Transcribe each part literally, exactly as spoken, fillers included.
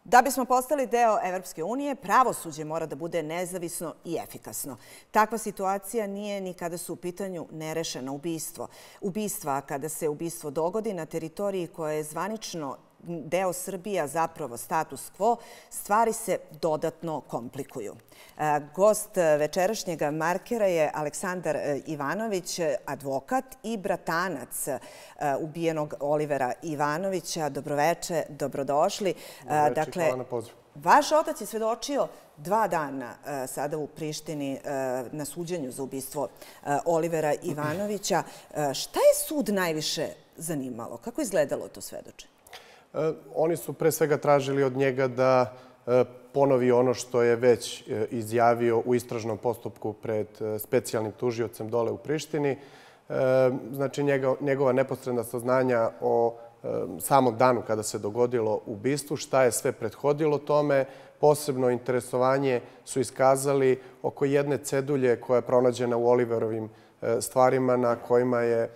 Da bismo postali deo Evropske unije, pravosuđe mora da bude nezavisno i efikasno. Takva situacija nije ni kada su u pitanju nerešeno ubistvo. Ubistva, kada se ubistvo dogodi na teritoriji koja je zvanično deo Srbije, a zapravo status quo, stvari se dodatno komplikuju. Gost večerašnjeg Markera je Aleksandar Ivanović, advokat i bratanac ubijenog Olivera Ivanovića. Dobroveče, dobrodošli. Dobroveče, hvala na pozivu. Vaš otac je svedočio dva dana sada u Prištini na suđenju za ubistvo Olivera Ivanovića. Šta je sud najviše zanimalo? Kako je izgledalo to svedočenje? Oni su pre svega tražili od njega da ponovi ono što je već izjavio u istražnom postupku pred specijalnim tužiocem dole u Prištini. Znači, njegova neposredna saznanja o samom danu kada se dogodilo ubistvo, šta je sve prethodilo tome. Posebno interesovanje su iskazali oko jedne cedulje koja je pronađena u Oliverovim stvarima na kojima je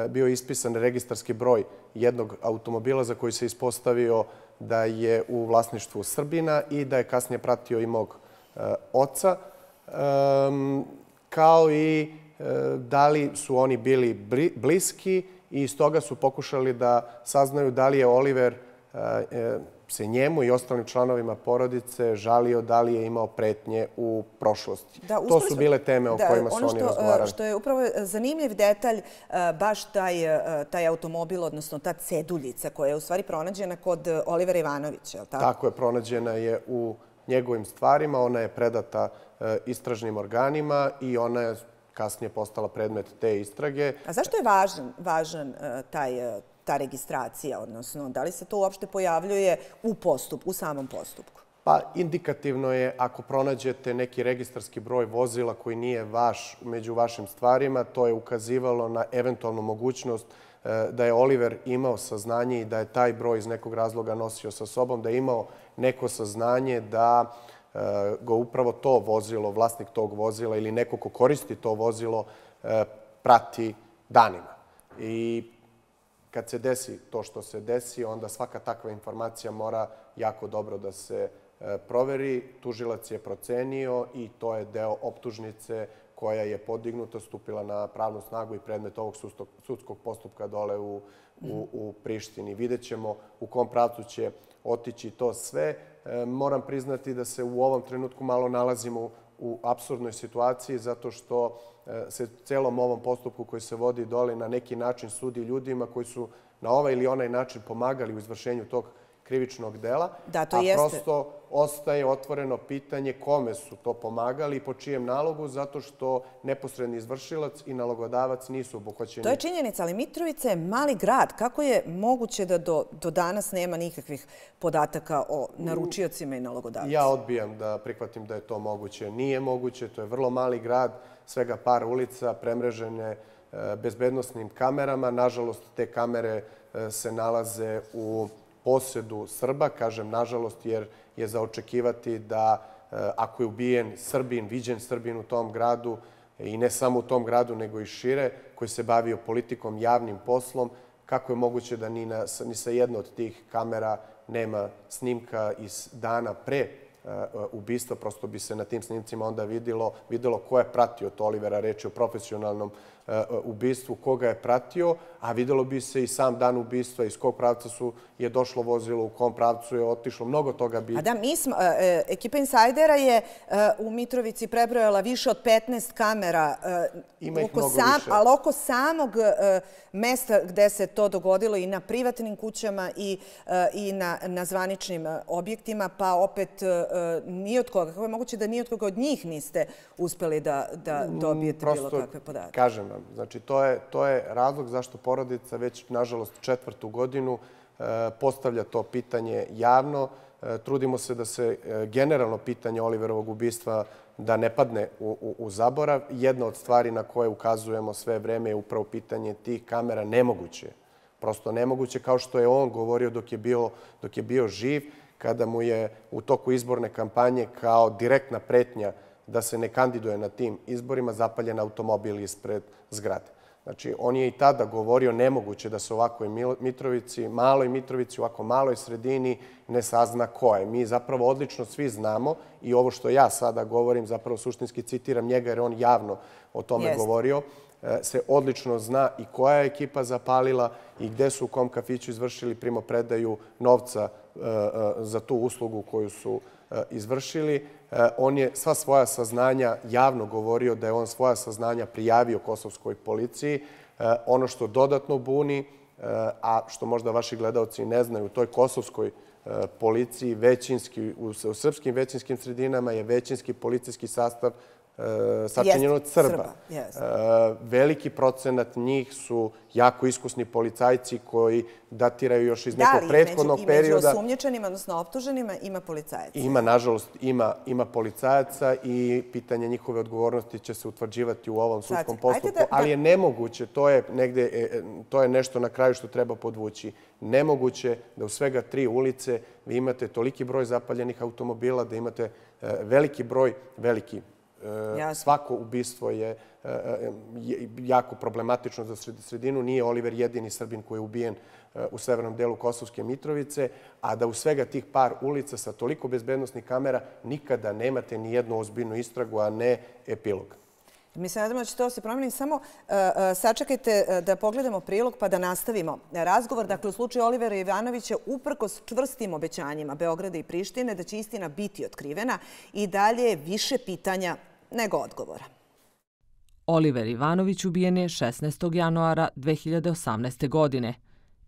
bio ispisan registarski broj jednog automobila za koji se ispostavio da je u vlasništvu Srbina i da je kasnije pratio i mog oca, kao i da li su oni bili bliski i iz toga su pokušali da saznaju da li je Oliver se njemu i ostalim članovima porodice žalio da li je imao pretnje u prošlosti. To su bile teme o kojima su oni razgovarali. Ono što je upravo zanimljiv detalj, baš taj automobil, odnosno ta ceduljica koja je u stvari pronađena kod Olivera Ivanovića, je li tako? Tako je, pronađena je u njegovim stvarima, ona je predata istražnim organima i ona je kasnije postala predmet te istrage. A zašto je važan taj ta registracija, odnosno da li se to uopšte pojavljuje u postupku, u samom postupku? Pa, indikativno je ako pronađete neki registarski broj vozila koji nije vaš među vašim stvarima, to je ukazivalo na eventualnu mogućnost da je Oliver imao saznanje i da je taj broj iz nekog razloga nosio sa sobom, da je imao neko saznanje da ga upravo to vozilo, vlasnik tog vozila ili neko ko koristi to vozilo, prati danima. I kad se desi to što se desi, onda svaka takva informacija mora jako dobro da se proveri. Tužilac je procenio i to je deo optužnice koja je podignuta, stupila na pravnu snagu i predmet ovog sudskog postupka dole u, u, u Prištini. Vidjet ćemo u kom pravcu će otići to sve. Moram priznati da se u ovom trenutku malo nalazimo u apsurdnoj situaciji zato što se celom ovom postupku koji se vodi dole na neki način sudi ljudima koji su na ovaj ili onaj način pomagali u izvršenju tog krivičnog dela, a prosto ostaje otvoreno pitanje kome su to pomagali i po čijem nalogu, zato što neposredni izvršilac i nalogodavac nisu obuhvaćeni. To je činjenica, ali Mitrovica je mali grad. Kako je moguće da do, do danas nema nikakvih podataka o naručiocima i nalogodavcima? Ja odbijam da prihvatim da je to moguće. Nije moguće, to je vrlo mali grad, svega par ulica, premrežene bezbednosnim kamerama. Nažalost, te kamere se nalaze u posedu Srba, kažem nažalost jer je za očekivati da ako je ubijen Srbin, viđen Srbin u tom gradu i ne samo u tom gradu nego i šire, koji se bavio politikom, javnim poslom, kako je moguće da ni, na, ni sa jedno od tih kamera nema snimka iz dana pre ubistva, prosto bi se na tim snimcima onda videlo, videlo ko je pratio to Olivera, reč je o profesionalnom ubistvu, koga je pratio, a videlo bi se i sam dan ubistva, iz kog pravca su je došlo vozilo, u kom pravcu je otišlo, mnogo toga bi... A da, mi smo, ekipa Insajdera je u Mitrovici prebrojala više od petnaest kamera, ima ih mnogo više. Ali oko samog mesta gde se to dogodilo i na privatnim kućama i, i na, na zvaničnim objektima, pa opet ni od koga. Kako je moguće da ni od koga od njih niste uspeli da, da dobijete Prosto, bilo kakve podatke? Kažem vam, znači to je, to je razlog zašto porodica već, nažalost, četvrtu godinu postavlja to pitanje javno. Trudimo se da se generalno pitanje Oliverovog ubistva da ne padne u, u, u zaborav. Jedna od stvari na koje ukazujemo sve vreme je upravo pitanje tih kamera. Nemoguće, prosto nemoguće, kao što je on govorio dok je bio, dok je bio živ, kada mu je u toku izborne kampanje kao direktna pretnja da se ne kandiduje na tim izborima zapaljen automobil ispred zgrade. Znači, on je i tada govorio nemoguće da se u ovakvoj Mitrovici, maloj Mitrovici, u ovako maloj sredini ne sazna ko je. Mi zapravo odlično svi znamo i ovo što ja sada govorim, zapravo suštinski citiram njega jer on javno o tome Jest. govorio, se odlično zna i koja je ekipa zapalila i gde su u kom kafiću izvršili primopredaju novca za tu uslugu koju su izvršili. On je sva svoja saznanja javno govorio da je on svoja saznanja prijavio kosovskoj policiji. Ono što dodatno buni, a što možda vaši gledalci ne znaju, u toj kosovskoj policiji, većinski, u srpskim većinskim sredinama je većinski policijski sastav sačinjen od Srba. Veliki procenat njih su jako iskusni policajci koji datiraju još iz nekog prethodnog perioda. Da li i među osumnjičenima, odnosno optuženima, ima policajaca? Ima, nažalost, ima policajaca i pitanje njihove odgovornosti će se utvrđivati u ovom sudskom postupku. Ali je nemoguće, to je nešto na kraju što treba podvući, nemoguće da u svega tri ulice vi imate toliki broj zapaljenih automobila, da imate veliki broj, veliki svako ubistvo je jako problematično za sredinu. Nije Oliver jedini Srbin koji je ubijen u severnom delu Kosovske Mitrovice, a da u svega tih par ulica sa toliko bezbednosnih kamera nikada nemate ni jednu ozbiljnu istragu, a ne epilog. Mi se nadamo da će to se promeniti. Samo sačekajte da pogledamo prilog pa da nastavimo razgovor. Dakle, u slučaju Olivera Ivanovića, uprkos čvrstim obećanjima Beograda i Prištine da će istina biti otkrivena, i dalje je više pitanja nego odgovora. Oliver Ivanović ubijen je šesnaestog januara dve hiljade osamnaeste. godine.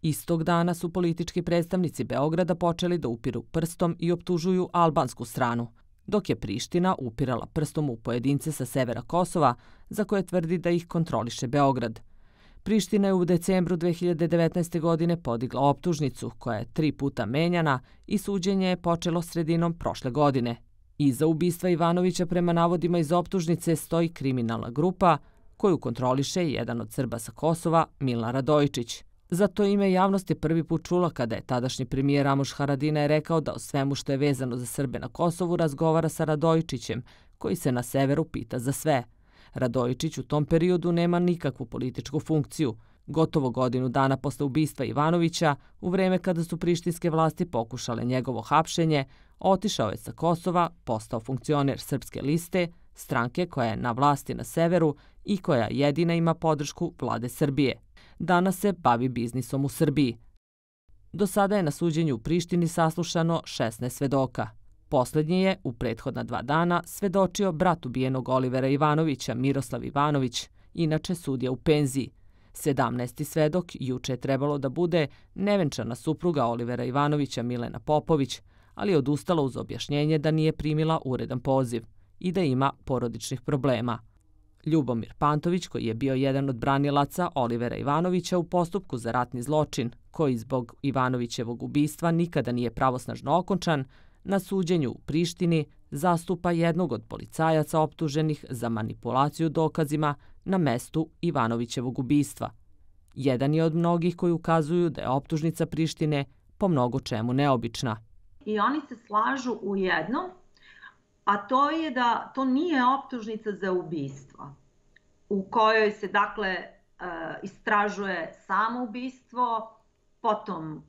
Istog dana su politički predstavnici Beograda počeli da upiru prstom i optužuju albansku stranu, dok je Priština upirala prstom u pojedince sa severa Kosova, za koje tvrdi da ih kontroliše Beograd. Priština je u decembru dve hiljade devetnaeste. godine podigla optužnicu, koja je tri puta menjana i suđenje je počelo sredinom prošle godine. Iza ubistva Ivanovića prema navodima iz optužnice stoji kriminalna grupa koju kontroliše jedan od Srba sa Kosova, Milan Radojičić. Za to ime javnost je prvi put čula kada je tadašnji premijer Ramuš Haradinaj rekao da o svemu što je vezano za Srbe na Kosovu razgovara sa Radojičićem, koji se na severu pita za sve. Radojičić u tom periodu nema nikakvu političku funkciju. Gotovo godinu dana posle ubistva Ivanovića, u vreme kada su prištinske vlasti pokušale njegovo hapšenje, otišao je sa Kosova, postao funkcioner Srpske liste, stranke koja je na vlasti na severu i koja jedina ima podršku vlade Srbije. Danas se bavi biznisom u Srbiji. Do sada je na suđenju u Prištini saslušano šesnaest svedoka. Poslednji je, u prethodna dva dana, svedočio brat ubijenog Olivera Ivanovića, Miroslav Ivanović, inače sudija u penziji. Sedamnaesti svedok juče je trebalo da bude nevenčana supruga Olivera Ivanovića, Milena Popović, ali je odustala uz objašnjenje da nije primila uredan poziv i da ima porodičnih problema. Ljubomir Pantović, koji je bio jedan od branilaca Olivera Ivanovića u postupku za ratni zločin, koji zbog Ivanovićevog ubistva nikada nije pravosnažno okončan, na suđenju u Prištini zastupa jednog od policajaca optuženih za manipulaciju dokazima na mestu Ivanovićevog ubistva. Jedan je od mnogih koji ukazuju da je optužnica Prištine po mnogo čemu neobična. I oni se slažu u jednom, a to je da to nije optužnica za ubistvo, u kojoj se, dakle, istražuje samo ubistvo, potom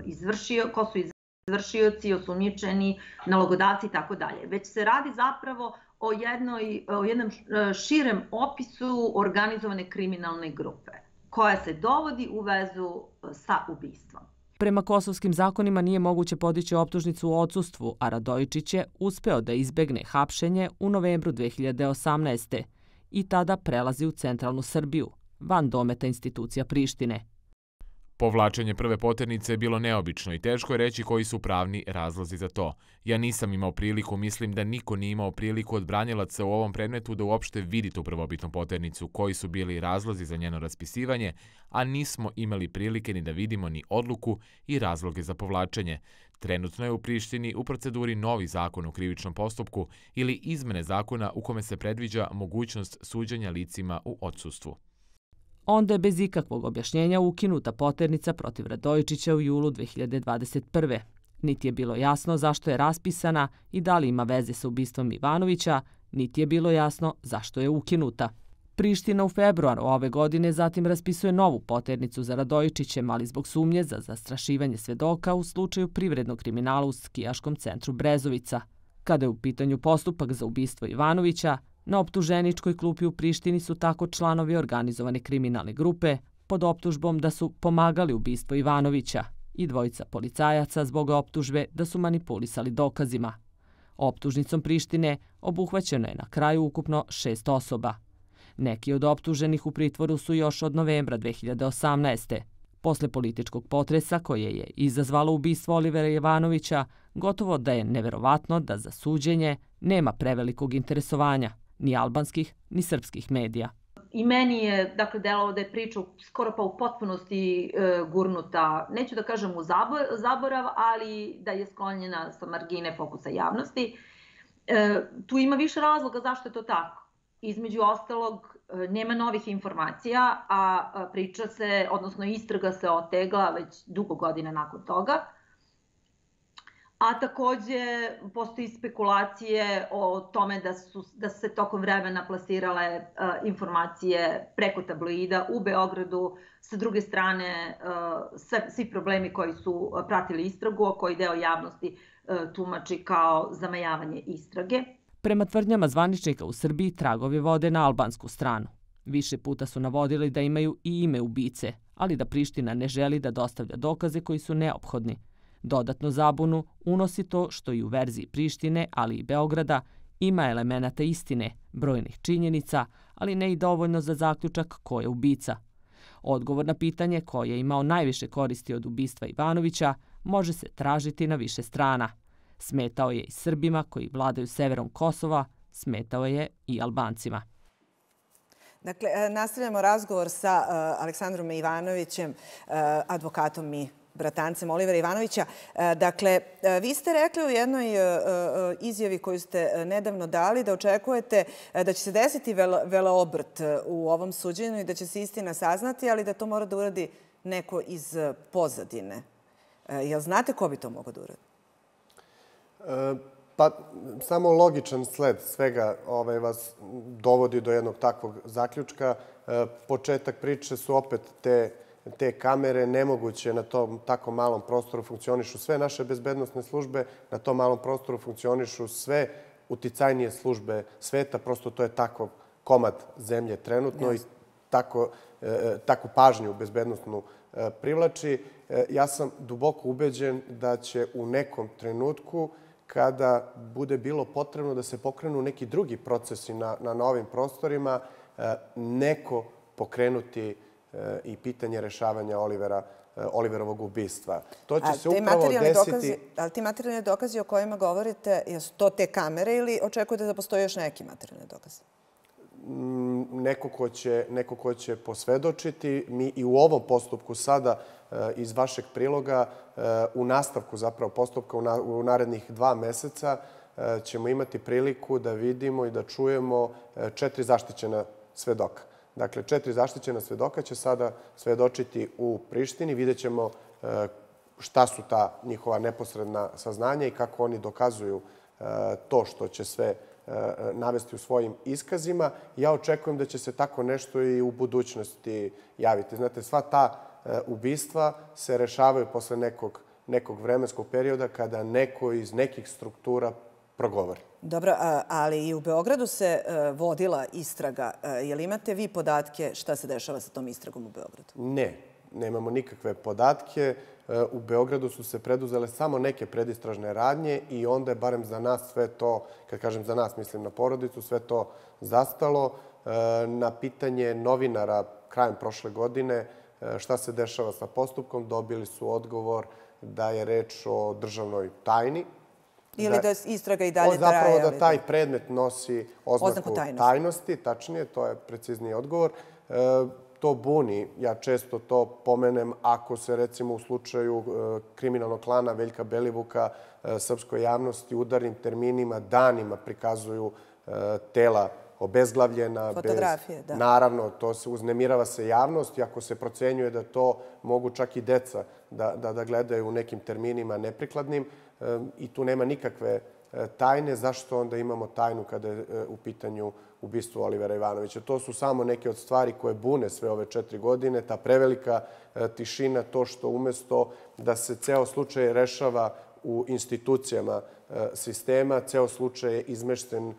izvršio, ko su izvršioci, osumnjičeni, nalogodavci i tako dalje. Već se radi zapravo o, jednoj, o jednom širem opisu organizovane kriminalne grupe, koja se dovodi u vezu sa ubistvom. Prema kosovskim zakonima nije moguće podići optužnicu u odsustvu, a Radojičić je uspeo da izbegne hapšenje u novembru dve hiljade osamnaeste. i tada prelazi u centralnu Srbiju, van dometa institucija Prištine. Povlačenje prve poternice je bilo neobično i teško je reći koji su pravni razlozi za to. Ja nisam imao priliku, mislim da niko nije imao priliku od branilaca u ovom predmetu da uopšte vidi tu prvobitnu poternicu, koji su bili razlozi za njeno raspisivanje, a nismo imali prilike ni da vidimo ni odluku i razloge za povlačenje. Trenutno je u Prištini u proceduri novi zakon o krivičnom postupku ili izmene zakona u kome se predviđa mogućnost suđenja licima u odsustvu. Onda je bez ikakvog objašnjenja ukinuta poternica protiv Radojičića u julu dve hiljade dvadeset prve. Niti je bilo jasno zašto je raspisana i da li ima veze sa ubistvom Ivanovića, niti je bilo jasno zašto je ukinuta. Priština u februaru ove godine zatim raspisuje novu poternicu za Radojičićem, ali zbog sumnje za zastrašivanje svedoka u slučaju privrednog kriminala u skijaškom centru Brezovica. Kada je u pitanju postupak za ubistvo Ivanovića, na optuženičkoj klupi u Prištini su tako članovi organizovane kriminalne grupe pod optužbom da su pomagali ubistvo Ivanovića i dvojica policajaca zbog optužbe da su manipulisali dokazima. Optužnicom Prištine obuhvaćeno je na kraju ukupno šest osoba. Neki od optuženih u pritvoru su još od novembra dve hiljade osamnaeste. Posle političkog potresa koje je izazvalo ubistvo Olivera Ivanovića, gotovo da je neverovatno da za suđenje nema prevelikog interesovanja, ni albanskih, ni srpskih medija. I meni je, dakle, delovalo da je priča skoro pa u potpunosti e, gurnuta, neću da kažem u zaborav, ali da je sklonjena sa margine fokusa javnosti. E, tu ima više razloga zašto je to tako. Između ostalog, nema novih informacija, a priča se, odnosno istraga se otegla već dugo godina nakon toga. A takođe postoji spekulacije o tome da su da se tokom vremena plasirale uh, informacije preko tabloida u Beogradu. Sa druge strane, uh, sve, svi problemi koji su pratili istragu, a koji deo javnosti uh, tumači kao zamajavanje istrage. Prema tvrdnjama zvaničnika u Srbiji, tragovi vode na albansku stranu. Više puta su navodili da imaju i ime ubice, ali da Priština ne želi da dostavlja dokaze koji su neophodni. Dodatno zabunu unosi to što i u verziji Prištine, ali i Beograda, ima elemenata istine, brojnih činjenica, ali ne i dovoljno za zaključak ko je ubica. Odgovor na pitanje ko je imao najviše koristi od ubistva Ivanovića može se tražiti na više strana. Smetao je i Srbima koji vladaju severom Kosova, smetao je i Albancima. Dakle, nastavljamo razgovor sa Aleksandrom Ivanovićem, advokatom i bratancem Olivera Ivanovića. Dakle, vi ste rekli u jednoj izjavi koju ste nedavno dali da očekujete da će se desiti veleobrt u ovom suđenju i da će se istina saznati, ali da to mora da uradi neko iz pozadine. Jel znate ko bi to mogao da uradi? Pa, samo logičan sled svega ovaj, vas dovodi do jednog takvog zaključka. Početak priče su opet te, te kamere. Nemoguće na tom tako malom prostoru funkcionišu sve naše bezbednosne službe, na tom malom prostoru funkcionišu sve uticajnije službe sveta. Prosto to je tako komad zemlje trenutno yes. i tako, takvu pažnju bezbednostnu privlači. Ja sam duboko ubeđen da će u nekom trenutku kada bude bilo potrebno da se pokrenu neki drugi procesi na, na novim prostorima, neko pokrenuti i pitanje rešavanja Olivera, Oliverovog ubistva. To će se upravo desiti... Dokazi, ali ti materijalni dokazi o kojima govorite, jesu to te kamere ili očekujete da postoje još neki materijalni dokazi? Neko ko će, neko ko će posvedočiti. Mi i u ovom postupku sada iz vašeg priloga u nastavku zapravo postupka u narednih dva meseca ćemo imati priliku da vidimo i da čujemo četiri zaštićena svedoka. Dakle, četiri zaštićena svedoka će sada svedočiti u Prištini. Vidjet ćemo šta su ta njihova neposredna saznanja i kako oni dokazuju to što će sve navesti u svojim iskazima. Ja očekujem da će se tako nešto i u budućnosti javiti. Znate, sva ta ubistva se rešavaju posle nekog, nekog vremenskog perioda kada neko iz nekih struktura progovori. Dobro, ali i u Beogradu se vodila istraga. Je li imate vi podatke šta se dešava sa tom istragom u Beogradu? Ne, nemamo nikakve podatke. U Beogradu su se preduzele samo neke predistražne radnje i onda je barem za nas sve to, kad kažem za nas, mislim na porodicu, sve to zastalo. Na pitanje novinara krajem prošle godine šta se dešava sa postupkom, dobili su odgovor da je reč o državnoj tajni. Ili da istraga i dalje traje. Zapravo da taj predmet nosi oznaku tajnosti, tačnije, to je precizniji odgovor. To buni, ja često to pomenem, ako se recimo u slučaju kriminalnog klana Veljka Belivuka srpskoj javnosti udarnim terminima danima prikazuju tela obezglavljena. Fotografije, da. Naravno, to se uznemirava se javnost i ako se procenjuje da to mogu čak i deca da, da, da gledaju u nekim terminima neprikladnim i tu nema nikakve tajne, zašto onda imamo tajnu kada je u pitanju ubistvo Olivera Ivanovića? To su samo neke od stvari koje bune sve ove četiri godine, ta prevelika tišina, to što umesto da se ceo slučaj rešava u institucijama sistema, ceo slučaj je izmešten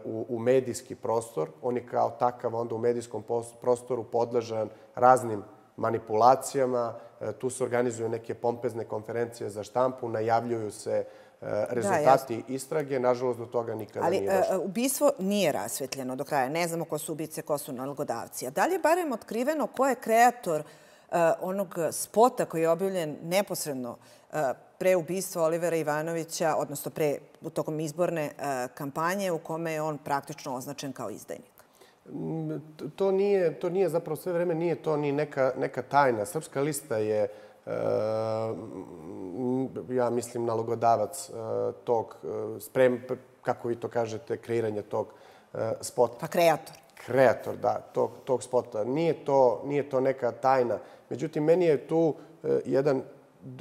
u, u medijski prostor. On je kao takav onda u medijskom prostoru podležan raznim manipulacijama. Tu se organizuju neke pompezne konferencije za štampu, najavljuju se rezultati da, istrage. Nažalost, do toga nikada Ali, nije došlo. Ali ubistvo nije rasvetljeno do kraja. Ne znamo ko su ubice, ko su nalogodavci. A da li je barem otkriveno ko je kreator uh, onog spota koji je objavljen neposredno uh, pre ubistva Olivera Ivanovića, odnosno pre, u tokom izborne uh, kampanje u kome je on praktično označen kao izdajnik? To nije, to nije zapravo sve vreme, nije to ni neka, neka tajna. Srpska lista je, ja mislim, nalogodavac tog, sprem, kako vi to kažete, kreiranja tog spota. Pa kreator. Kreator, da, tog, tog spota. Nije to, nije to neka tajna. Međutim, meni je tu jedan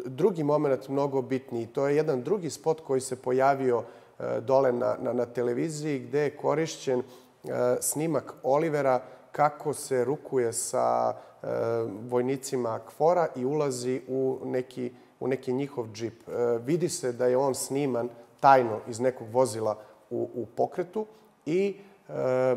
drugi moment mnogo bitniji. To je jedan drugi spot koji se pojavio dole na, na, na televiziji gde je korišćen snimak Olivera kako se rukuje sa e, vojnicima KFOR-a i ulazi u neki, u neki njihov džip. E, vidi se da je on sniman tajno iz nekog vozila u, u pokretu i e,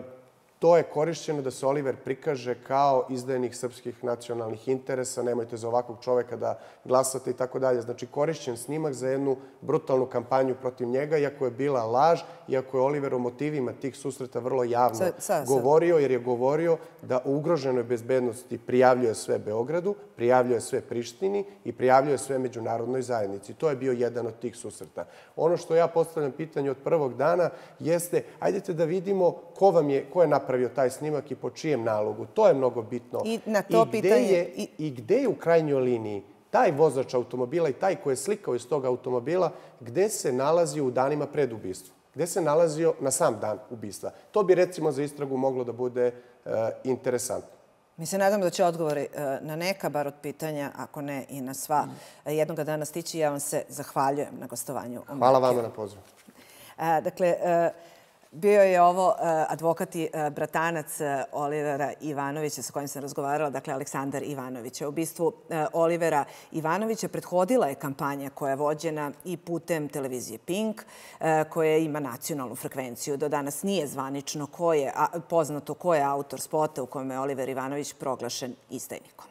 to je korišćeno da se Oliver prikaže kao izdajnik srpskih nacionalnih interesa. Nemojte za ovakvog čoveka da glasate i tako dalje. Znači, korišćen snimak za jednu brutalnu kampanju protiv njega, iako je bila laž, iako je Oliver o motivima tih susreta vrlo javno sa, sa, govorio, jer je govorio da u ugroženoj bezbednosti prijavljuje sve Beogradu, prijavljuje sve Prištini i prijavljuje sve međunarodnoj zajednici. To je bio jedan od tih susreta. Ono što ja postavljam pitanje od prvog dana jeste, ajdete da vidimo ko vam je, ko je napravio taj snimak i po čijem nalogu. To je mnogo bitno. I na to I gde pitanje... Je, i, I gde je u krajnjoj liniji taj vozač automobila i taj koji je slikao iz tog automobila, gde se nalazi u danima pred ubistvom? Gde se nalazio na sam dan ubistva? To bi, recimo, za istragu moglo da bude e, interesantno. Mi se nadamo da će odgovori na neka, bar od pitanja, ako ne i na sva, jednoga dana stići. Ja vam se zahvaljujem na gostovanju. Hvala vama na pozivu. Dakle, bio je ovo advokat i bratanac Olivera Ivanovića sa kojim sam razgovarala, dakle Aleksandar Ivanović. Ubistvu Olivera Ivanovića prethodila je kampanja koja je vođena i putem televizije Pink, koja ima nacionalnu frekvenciju. Do danas nije zvanično ko je, poznato ko je autor spota u kome je Oliver Ivanović proglašen izdajnikom.